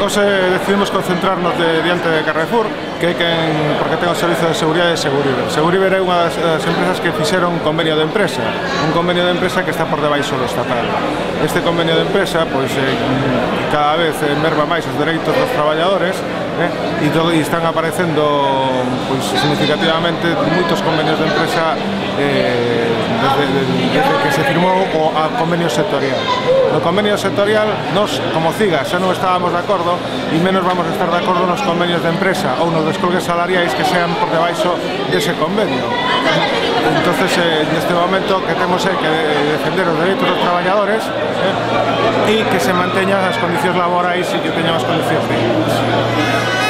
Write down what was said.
Nos decidimos concentrarnos diante de Carrefour, porque ten o servizo de seguridade de Seguriber. Seguriber é unha das empresas que fixeron un convenio de empresa, que está por debaixo do estatal. Este convenio de empresa, pois, cada vez merma máis os dereitos dos traballadores, e están aparecendo, pois, significativamente moitos convenios de empresa desde que se firmou o convenio sectorial. No convenio sectorial, nos, como CIGA, xa non estábamos de acordo, e menos vamos a estar de acordo nos convenios de empresa ou nos descolgues salariais que sean por debaixo dese convenio. Entonces, neste momento, que temos é que defender os dereitos dos traballadores e que se manteñan as condicións laborais e que teñan as condicións dignas.